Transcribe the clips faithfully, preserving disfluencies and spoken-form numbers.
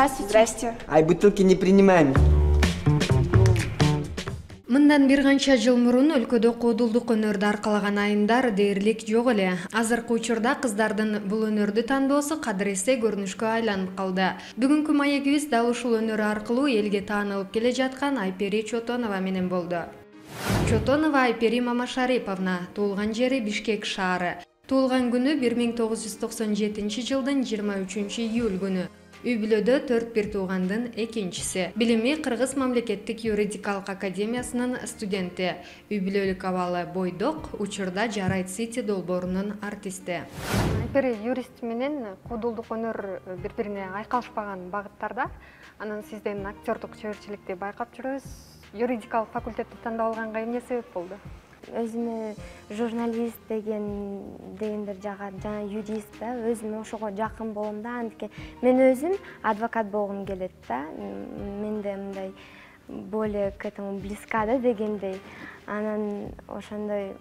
Здравствуйте. Здрасте. Ай, бутылки не принимаем. Мындан бир канча жыл мурун өлкөдө кодулдук өнөрдү аркалаган айымдар дээрлик жок эле. Азыркы учурда кыздардын бул өнөрдү тандоосу кадыресе көрүнүшкө айланып калды. Бүгүнкү маегибиз дал ушул өнөр аркылуу элге таанылып келе жаткан Айпери Чотонова менен болду. Чотонова Айпери Мамашариповна, туулган жери Бишкек шаары. Туулган күнү бир миң тогуз жүз токсон жетинчи жылдын жыйырма үчүнчү июль күнү. Үй бүлөдө төрт бир туугандын экинчиси. Билими Кыргыз мамлекеттик юридикалык академиясынын студенти. Үй бүлөлүк абалы бойдок, учурда Жарайт Сити долбоорунун артисти. Айпери юрист менен кодулдук өнөр бири-бирине айкалышпаган багыттарда. Анан сизден актёрдук чеберчиликти байкап жүрөбүз. Юридикалык факультетти тандап алганга эмне себеп болду? Өзүмө журналист деген дегендер жагат, жана юрист да, өзүм ошого жакын болом да, антике мен өзүм адвокат болгум келет да. Менде мындай более к этому близка да дегендей. Анан ошондой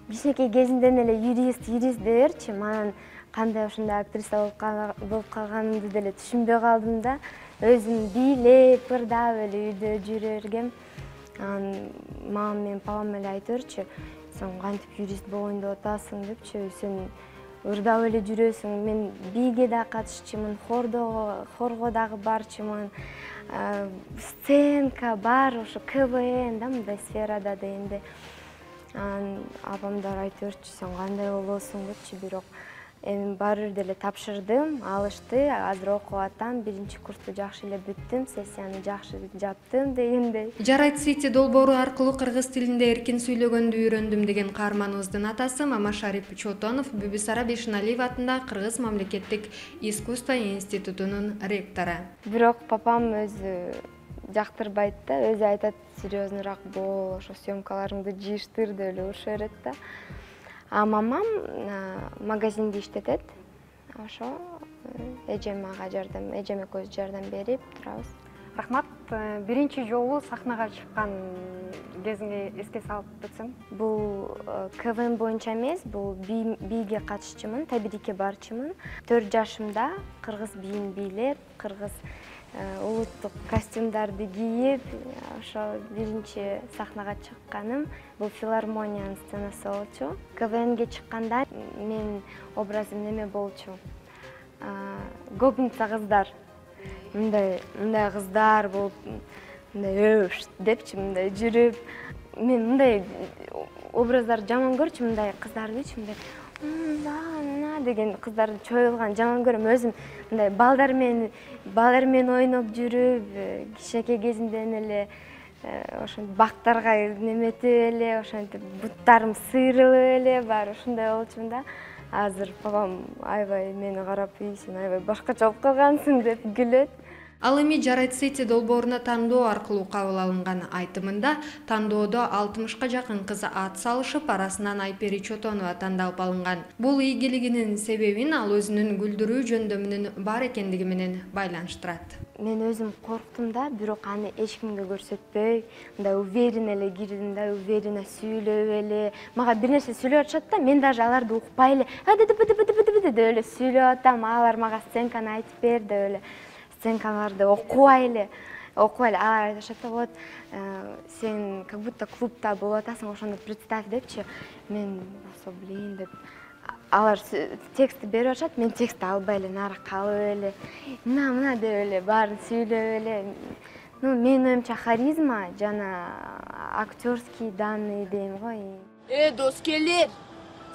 кичинекей кезимден эле юрист, юрист деберчи, анан кандай ошондой актриса болуп калганымды деле түшүнбөй калдым да. Өзүм бийлеп, ырдап эле үйдө жүрө бергем. Мамам менен папам эле айтырчы, сен кантип юрист болоюн деп атасың депчи, сен ырдап эле жүрөсүң. Мен бийге да катышчумун, хордого, хорго дагы барчумун. Сценка бар, ошо К В Н да, мындай сферада дегенде. Апамдар айтырчы, сен кандай болосуң депчи, бирок эми баары бир деле тапшырдым, алышты. Азыр окуп атам, биринчи курсту жакшы эле бүттүм, сессияны жакшы жаптым дегендей. Жарайт Сити долбоору аркылуу кыргыз тилинде эркин сүйлөгөндү үйрөндүм деген каарманыбыздын атасы Мамашарип Чотонов Бүбүсара Бешеналиева атындагы Кыргыз мамлекеттик искусство институтунун ректору. Бирок папам өзү жактырбайт да, өзү айтат, серьезныйраак бол, ошо съемкаларыңды жыйыштыр деп эле уруша берет да. А мамам магазинде иштетет. Ошо эжем ага жардам, эжем экөөбүз жардам берип турабыз. Рахмат. Биринчи жолу сахнага чыккан кезиңи эске салып өтсөң? Бул К В Н боюнча эмес, бул бийге катышчумун, табирике барчумун. төрт жашымда кыргыз бийин бийлеп, кыргыз улуттук костюмдарды кийип, ошо биринчи сахнага чыкканым бул филармониянын сценасы болчу. К В Нге чыкканда мен образым неме болчу? Гопница кыздар. Мындай, мындай кыздар болуп, мындай өш депчи, мындай жүрүп, мен мындай образдарды жаман көрчүмүн, мындай кыздардычы, мындай мына деген кыздарды чоюлган жаман көрөм. Өзүм мындай балдар менен балдар менен ойноп жүрүп, кичинекей кезимден эле ошентип бактарга неметип эле, ошентип буттарым сыйрылып эле бар, ушундай болчумун да. Азыр папам аябай мени карап, сен аябай башкача болуп калгансың деп күлөт. Ал эми Жарайт Сити долбооруна тандоо аркылуу кабыл алынган айтымында тандоодо алтымышка жакын кыз ат салышып, арасынан Айпери Чотонова тандалып алынган. Бул ийгилигинин себебин ал өзүнүн күлдүрүү жөндөмүнүн бар экендиги менен байланыштырат. Мен өзүм корктум да, бирок аны эч кимге көрсөтпөй, мындай уверенно эле кирдим да, уверенно сүйлөп эле. Мага бир нерсе сүйлөп атышат да, мен даже аларды укпай эле, деп эле сүйлөп атам, алар мага сценканы айтып бер деп эле. Сценкаларды окубай эле, окубай эле алар айтышат да, вот сен как будто клубда болуп атасың, ошондо представь депчи. Мен болсо блин деп алар текстти берип атышат, мен текстти албай эле нары калып эле, мына мына деп эле баарын сүйлөп эле. Ну, менин оюмча харизма жана актёрский данный дейм го. Э, доскелер,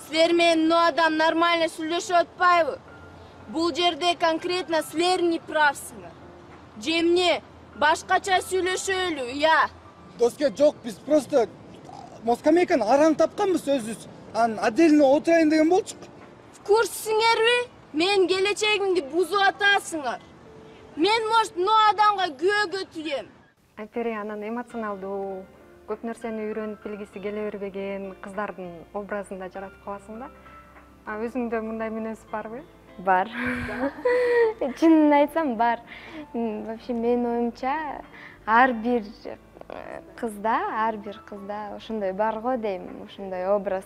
силер менен мына адам нормально сүйлөшүп атпайбы? Бул жерде конкретно силер не правсыңар. Же эмне башкача сүйлөшөлү, я? Доске жок, биз просто москамейканы араң тапканбыз өзүбүз. Ан отдельно отурайын деген болчук. В курсуңерби? Мен келечегимди бузуп атасыңар. Мен может мына адамга күбөгө түзөм. Айпери анан эмоционалдуу, көп нерсени үйрөнүп билгиси келе бербеген кыздардын образында жаратып каласың да. А өзүңдө мындай мүнөз барбы? Бар. Чынын айтсам бар. Вообще менин оюмча ар бир кызда, ар бир кызда ошондой бар го дейм, ошондой образ,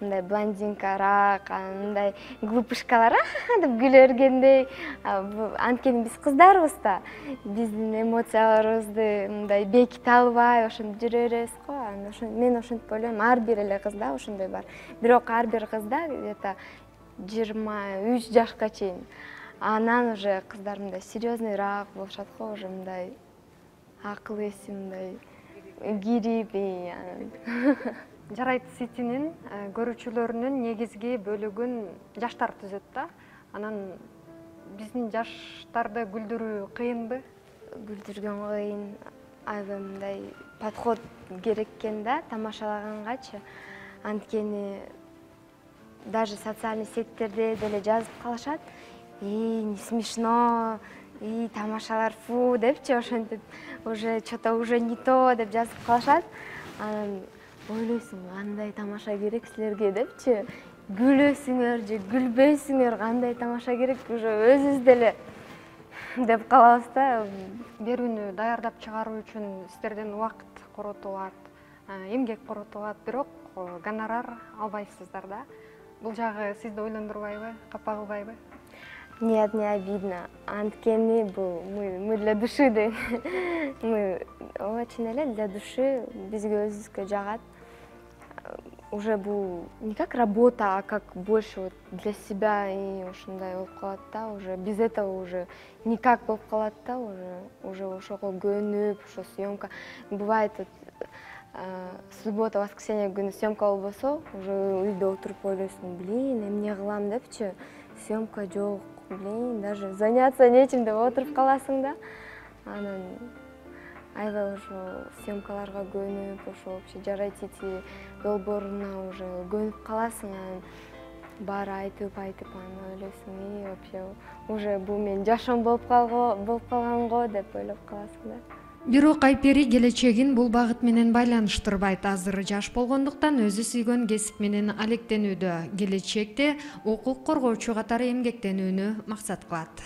мындай блондинкараак, мындай глупышкалар деп күлө бергендей. Анткени биз кыздарбыз да, биздин эмоцияларыбызды мындай беките албай ошентип жүрө беребиз го. Мен ошентип ойлойм, ар бир эле кызда ошондой бар. Бирок ар бир кызда где-то жыйырма үч жашка чейин. Анан уже кыздар мындай серьезныйраак болушат го, уже мындай акыл эси мындай кирип. Жарайт Ситинин көрүүчүлөрүнүн негизги бөлүгүн жаштар түзөт да. Анан биздин жаштарды күлдүрүү кыйынбы? Күлдүргөн кыйын, аябай мындай подход керек экен да тамашалагангачы. Анткени даже социальный сеттерде деле жазып калышат. И не смешно, и тамашалар фу депчи, ошентип уже что-то уже не то деп жазып калышат. Анан ойлойсуң, кандай тамаша керек силерге депчи. Күлөсүңөр же күлбөйсүңөр, кандай тамаша керек, уже өзүбүз деле деп калабыз да. Берүүнү даярдап чыгаруу үчүн сиздерден убакыт коротулат, эмгек коротулат, бирок гонорар албайсыздар да. Бул жагы сизди ойлондурбайбы, капа кылбайбы? Нет, не обидно. Анткени бул мы для души дейм. Мы очень эле для души, бизге өзүбүзгө жагат. Уже бул не как работа, а как больше вот для себя, и ошондой болуп калат да. Уже без этого уже никак болуп калат да, уже уже ошого көнүп, ошо съемка. Бывает вот суббота, воскресенье күнү съемка болбосо, уже үйдө отуруп ойлойсуң, блин, эмне кылам депчи, съемка жок, блин, даже заняться нечим деп отуруп каласың да. Анан аябай ошо съемкаларга көнүп, ошо вообще Жарайт Сити долбооруна уже көнүп каласың, анан баары айтып айтып анан ойлойсуң, и вообще уже бул менин жашоом болуп калган го деп ойлоп каласың да. Бирок Айпери келечегин бул багыт менен байланыштырбайт. Азыр жаш болгондуктан өзү сүйгөн кесип менен алектенүүдө. Келечекте укук коргоочу катары эмгектенүүнү максат кылат.